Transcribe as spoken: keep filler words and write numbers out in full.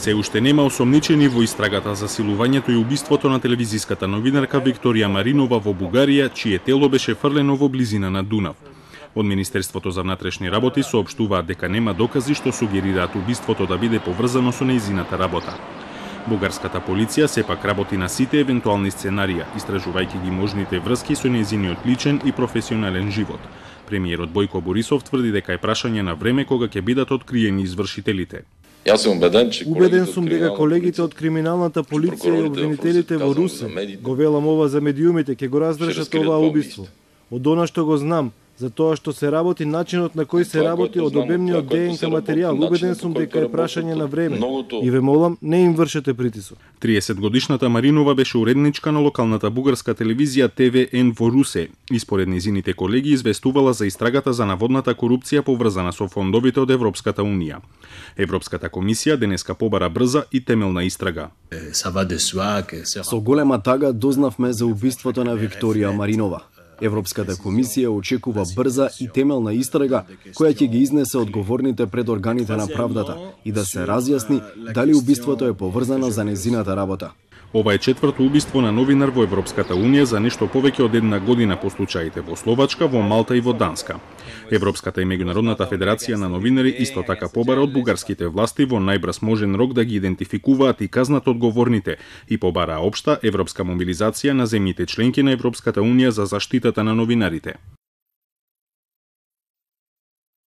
Се уште нема осомничени во истрагата за силувањето и убиството на телевизиската новинарка Викторија Маринова во Бугарија, чие тело беше фрлено во близина на Дунав. Од Министерството за внатрешни работи соопштуваат дека нема докази што сугерираат убиството да биде поврзано со нејзината работа. Бугарската полиција сепак работи на сите евентуални сценарија, истражувајќи ги можните врски со нејзиниот личен и професионален живот. Премиерот Бојко Борисов тврди дека е прашање на време кога ќе бидат откриени извршителите. Јас сум убеден, че Убеден сум дека колегите од криминалната полиција и обвинителите во Русе, го велам ова за медиумите, ќе го раздржат оваа убиство. Од она што го знам, за тоа што се работи, начинот на кој се работи, од обемниот ДНК материјал, убеден сум дека е прашање на време. И ве молам, не им вршете притисок. триесетгодишната Маринова беше уредничка на локалната бугарска телевизија Т В Н во Русе и според нејзините колеги известувала за истрагата за наводната корупција поврзана со фондовите од Европската унија. Европската комисија денеска побара брза и темелна истрага. Со голема тага дознавме за убиството на Викторија Маринова. Европската комисија очекува брза и темелна истрага која ќе ги изнесе одговорните пред органите на правдата и да се разјасни дали убиството е поврзано за нејзината работа. Ова е четврто убиство на новинар во Европската унија за нешто повеќе од една година по случаите во Словачка, во Малта и во Данска. Европската и меѓународната федерација на новинари исто така побара од бугарските власти во најбрз можен рок да ги идентификуваат и казнат одговорните и побараа општа европска мобилизација на земјите членки на Европската унија за заштитата на новинарите.